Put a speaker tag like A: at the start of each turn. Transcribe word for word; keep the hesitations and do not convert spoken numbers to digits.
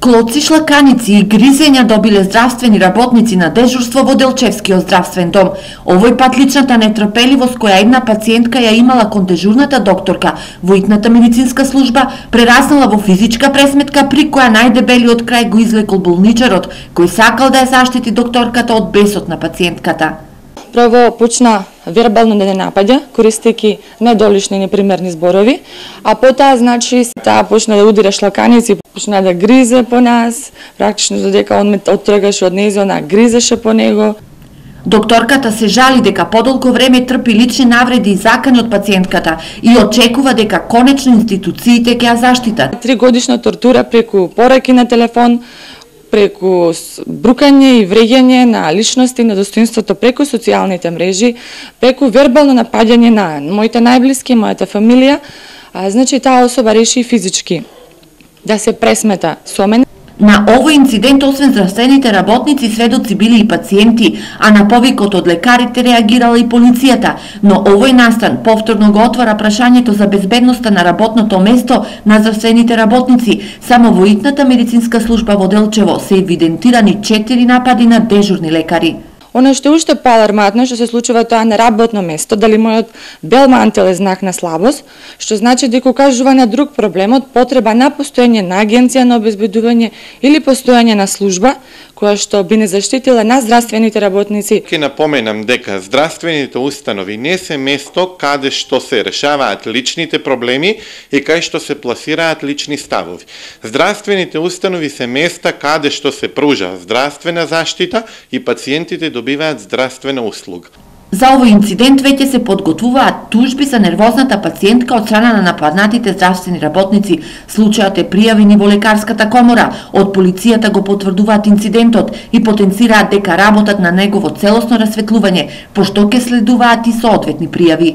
A: Клоци, шлаканици и гризења добиле здравствени работници на дежурство во Делчевскиот здравствен дом. Овој пат личната нетрпеливост која една пациентка ја имала кон дежурната докторка во итната медицинска служба прераснала во физичка пресметка при која најдебелиот крај го извлекол болничарот, кој сакал да ја заштити докторката од бесот на пациентката.
B: Прво почна вербално да не напаѓа, користејќи недолишни и непримерни зборови, а потоа, значи, таа почна да удира шлаканици, почна да гризе по нас, практично додека он ме оттргаше од нејзе, она гризеше по него.
A: Докторката се жали дека подолго време трпи лични навреди и закани од пациентката и очекува дека конечно институциите ќе ја заштитат.
B: Три годишна тортура преку пораки на телефон, преку брукање и вреѓање на личности, на достоинството преку социјалните мрежи, преку вербално напаѓање на моите најблиски, мојата фамилија, а, значи таа особа реши физички да се пресмета со мене.
A: На овој инцидент, освен здравствените работници, сведоци били и пациенти, а на повикот од лекарите реагирала и полицијата. Но овој настан повторно го отвара прашањето за безбедноста на работното место на здравствените работници. Само во итната медицинска служба во Делчево се евидентирани четири напади на дежурни лекари.
B: Оно што е уште поаларматно што се случува тоа на работно место, дали мојот бел мантел е знак на слабост, што значи дека укажува на друг проблем од потреба на постоење на агенција на обезбедување или постоење на служба која што би не заштитила на здравствените работници.
C: Ке напоменам дека здравствените установи не се место каде што се решаваат личните проблеми и каде што се пласираат лични ставови. Здравствените установи се места каде што се пружа здравствена заштита и пациентите добиваат здравствена услуга.
A: За овој инцидент веќе се подготвуваат тужби за нервозната пациентка од страна на нападнатите здравствени работници. Случајот е пријавен во лекарската комора. Од полицијата го потврдуваат инцидентот и потенцираат дека работат на негово целосно расветлување, пошто ќе следуваат и соодветни пријави.